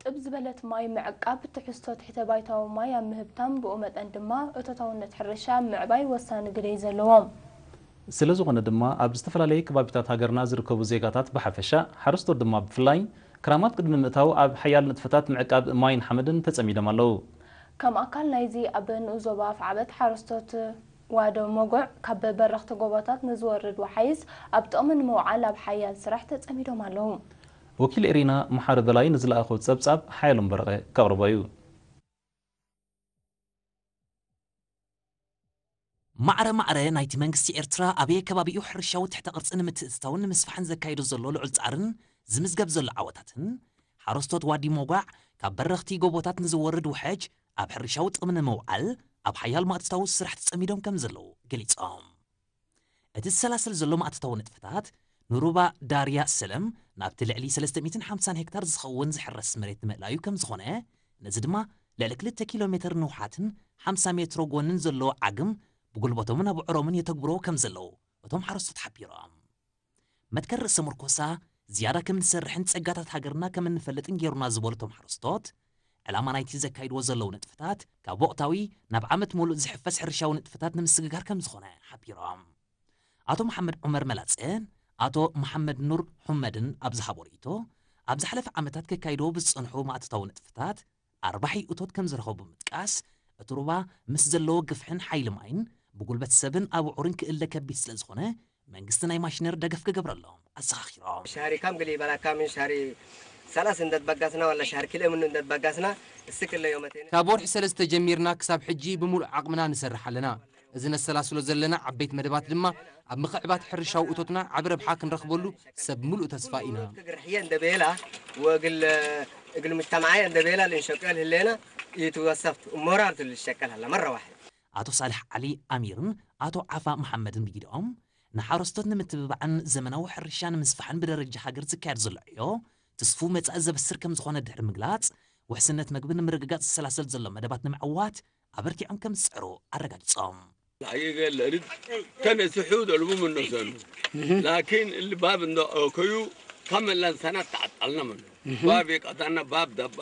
ጥብ ዝበለት ማይ ምዕቃብ ትሕዝቶ ትሕተ ባይታዊ ማይ ኣብ ምህብታም፣ ብኡ መጠን ድማ እቶታውነት ሕርሻ ኣብ ምዕባይ ወሳኒ ግደ እዩ ዘለዎ። ስለዝኾነ ድማ ኣብ ዝተፈላለየ ከባቢታት ሃገርና ዝርከቡ ዜጋታት ብሓፈሻ፣ ሓረስቶት ድማ ብፍላይ፣ ክራማት ቅድሚ ምእታው ኣብ ሓያል ንጥፈታት ምዕቃብ ማይን ሓመድን ተጸሚዶም ኣለዉ። ከም ኣካል ናይዚ ኣብ ንኡስ ዞባ ኣፍዓበት ሓረስቶት ዋዶ መጉዕ ካብ በረኽቲ ጎቦታት ንዝወርድ ወሓይዝ ኣብ ጥቕሚ ንምውዓል ኣብ ሓያል ስራሕ ተጸሚዶም ኣለዉ። ወኪል ኤሪና መሓሪ በላይ ንዝለኣኾ ጸብጻብ ሓየሎም በረቐ ከቕርቦ እዩ። ማዕረ ማዕረ ናይቲ መንግስቲ ኤርትራ ኣበየ ከባቢኡ ሕርሻዊ ትሕተ ቅርጺ ንምትእትታውን ንምስፋሕን ዘካይዶ ዘሎ ልዑል ጻዕርን ዝምዝገብ ዘሎ ዓወታትን፣ ሓረስቶት ዋዲ ሞጓዕ ካብ በረኽቲ ጎቦታት ንዝወርድ ውሕጅ ኣብ ሕርሻዊ ጥቕሚ ንምውዓል ኣብ ሓያል ማእትታዊ ስራሕ ተጸሚዶም ከም ዘለዉ ገሊጾም። እቲ ዝሰላሰል ዘሎ ማእትታዊ ንጥፈታት ንሩባ ዳርያ ሰለም ናብቲ ልዕሊ ሰለስተ ሚእትን ሓምሳን ሄክታር ዝኸውን ዝሕረስ መሬት ንምእላዩ ከም ዝኾነ፣ ነዚ ድማ ልዕሊ ክልተ ኪሎ ሜትር ንውሓትን ሓምሳ ሜትሮ ጎንን ዘለዎ ዓግም ብጉልበቶምን ኣቡዕሮምን የተግብርዎ ከም ዘለዉ እቶም ሓረስቶት ሓቢሮም። መትከል ርእሰ ምርኮሳ ዝያዳ ከም እንሰርሕን ጸጋታት ሃገርና ከም እንፈልጥን ገይሩና ዝበሉ እቶም ሓረስቶት፣ ዕላማ ናይቲ ዘካይድዎ ዘለዉ ንጥፈታት ካብ ወቕታዊ ናብ ዓመት ሙሉእ ዝሕፈስ ሕርሻዊ ንጥፈታት ንምስግጋር ከም ዝኾነ ሓቢሮም። ኣቶ መሓመድ ዑመር መላጸን ኣቶ መሓመድ ኑር ሑመድን ኣብ ዝሃቦ ርእይቶ፣ ኣብ ዝሓለፈ ዓመታት ከካይድዎ ብዝጸንሑ ማእቶታዊ ንጥፈታት ኣርባሒ እቶት ከም ዝረኸቡ ብምጥቃስ፣ እቲ ሩባ ምስ ዘለዎ ግፍሕን ሓይሊ ማይን ብጉልበት ሰብን ኣቡዑርን ክእለ ከቢድ ስለ ዝኾነ መንግስቲ ናይ ማሽነሪ ደገፍ ክገብረሎም ኣዘኻኺሮም። ሻሪ ካም ግሊ በላካ ምን ሻሪ ሰላስ እንደት በጋስና ወላ ሻር ኪሎ ምን እንደት በጋስና እስክ ለዮ መቴነ ካብ ወርሒ ሰለስተ ጀሚርና ክሳብ ሕጂ ብምሉእ ዓቕምና ንሰርሕ ኣለና። እዚ ነሰላስሎ ዘለና ዓበይት መደባት ድማ ኣብ ምኽዕባት ሕርሻዊ እቶትና ዓቢ ረብሓ ክንረኽበሉ ሰብ ምሉእ ተስፋ ኢና። ክግርሕየ እንደ ቤላ ወእግል እግል ሙጅተማዓየ እንደ ቤላ ልንሸቀል ህሌና ይትወሰፍት ሞራል ትልሸቀል ኣላ መረ ዋሕድ። ኣቶ ሳልሕ ዓሊ ኣሚርን ኣቶ ዓፋ መሓመድን ብጊድኦም፣ ንሓረስቶት ንምትብባዕን ዘመናዊ ሕርሻ ንምስፋሕን ብደረጃ ሃገር ዝካየድ ዘሎ ዕዮ ትስፉው መጻኢ ዘብስር ከም ዝኾነ ድሕሪ ምግላጽ፣ ውሕስነት መግቢ ንምርግጋጽ ዝሰላሰል ዘሎ መደባት ንምዕዋት ኣበርቲዖም ከም ዝጽዕሩ ኣረጋጊጾም። ኣይገለድድ ተነስሑ ደልቡ ምነሰሉ ላኪን እሊ ባብ እንደ ኦከዩ ከመላን ሰናት ተዓጣልና መሉ ባብ የቀጣና ባብ ዳባ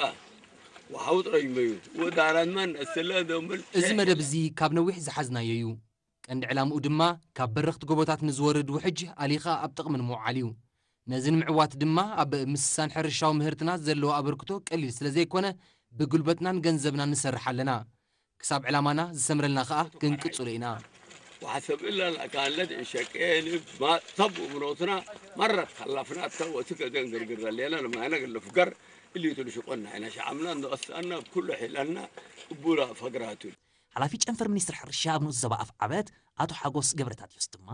ወሓውጥረጅመዩ ወዳራንማን እስለ ደምብል እዚ መደብ እዚ ካብ ነዊሕ ዝሓዝናዮ እዩ። ቀንዲ ዕላምኡ ድማ ካብ በረኽቲ ጎቦታት ንዝወርድ ውሕጅ ኣሊኻ ኣብ ጥቕሚ ንምውዓል እዩ። ነዚ ንምዕዋት ድማ ኣብ ምስሳን ሕርሻዊ ምህርትና ዘለዎ ኣበርክቶ ቀሊል ስለ ዘይኮነ ብጉልበትናን ገንዘብናን ንሰርሕ ኣለና። ክሳብ ዕላማና ዝሰምረልና ከኣ ክንቅጽሎ ኢና። وحسب إلا الأكالات إن شكيني ما طب ومروتنا مرت خلفنا تو وسكة دنقر قر لينا لما أنا قلنا فقر اللي تلشقنا هنا شعبنا نقصنا بكل حيلنا بولا فقراتو ሓላፊ ጨንፈር ሚኒስትሪ ሕርሻ ኣብ ንኡስ ዞባ ኣፍዓበት ኣቶ ሓጎስ ገብረታትዮስ ድማ፣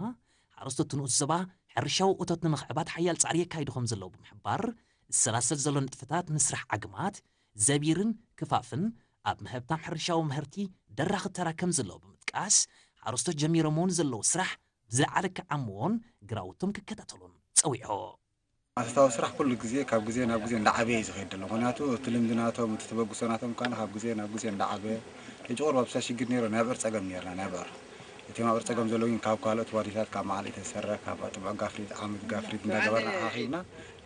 ሓረስቶት ንኡስ ዞባ ሕርሻዊ እቶት ንምኽዕባት ሓያል ጻዕሪ የካይዱ ከም ዘለዉ ብምሕባር፣ ዝሰላሰል ዘሎ ንጥፈታት ንስራሕ ዓግማት ዘቢርን ክፋፍን ኣብ ምህብታም ሕርሻዊ ምህርቲ ደራኺ ተራ ከም ዘለዎ ብምጥቃስ፣ ሓረስቶት ጀሚሮምዎ ንዘለዉ ስራሕ ብዝለዓለ ክዓምዎን ግራውቶም ክከታተሉን ጸዊዑ። ማእቶታዊ ስራሕ ኩሉ ግዜ ካብ ግዜ ናብ ግዜ እንዳዓበየ እዩ ዝኸይድ ዘሎ። ምኽንያቱ እቲ ልምዲ ናቶም፣ እቲ ተበግሶ ናቶም ከኣ ካብ ግዜ ናብ ግዜ እንዳዓበየ፣ ሕጂ ቁሩብ ኣብ ሽግር ነይሩ፣ ናይ ኣብዕር ጸገም ነይርና፣ ናይ ኣብዕር። እቲ ናይ ኣብዕር ጸገም ዘሎ ግን ካብ ካልኦት ዋዲታት፣ ካብ መዓል ኢተሰረ፣ ካብ ጥምዑ ጋፍሪት፣ ዓመት ጋፍሪት እንዳገበርና ኣኻኺብና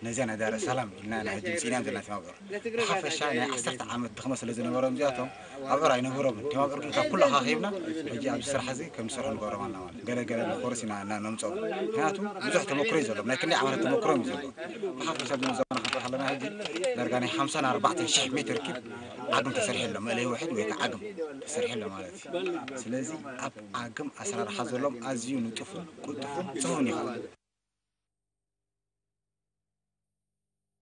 ነዚኣ ናይ ዳረ ሰላም ኢልና ኢና ሕጂ ምጺእናዮም ዘለና እቲ ኣብዕር። ብሓፈሻ ናይ ዓሰርተ ዓመት ድኽመት ስለ ዝነበሮም እዚኣቶም ኣብዕር ኣይነበሮምን። እቲ ኣብዕር ግን ካብ ኩሉ ኣኻኺብና ሕጂ ኣብዚ ስራሕ እዚ ከም ዝሰርሑ ንገብሮም ኣለና ማለት እዩ። ገለ ገለ ንኮርስ ኢና እና ነምጽኦም። ምኽንያቱ ብዙሕ ተመክሮ እዩ ዘለዎም። ናይ ክንደይ ዓመታት ተመክሮ እዩ ዘለዎም። ብሓፈሻ ግን ዘመና ክንርኢ ከለና ሕጂ ዳርጋ ናይ ሓምሳን ኣርባዕተን ሽሕ ሜትር ኪብ ዓግም ተሰሪሑ ኣሎ። መእለይ ውሕድ ወይ ከዓ ዓግም ተሰሪሑ ኣሎ ማለት እዩ። ስለዚ ኣብ ዓግም ኣሰራርሓ ዘለዎም ኣዝዩ ንጡፍን ቅልጡፍን ጽፉፍን ይኸውን።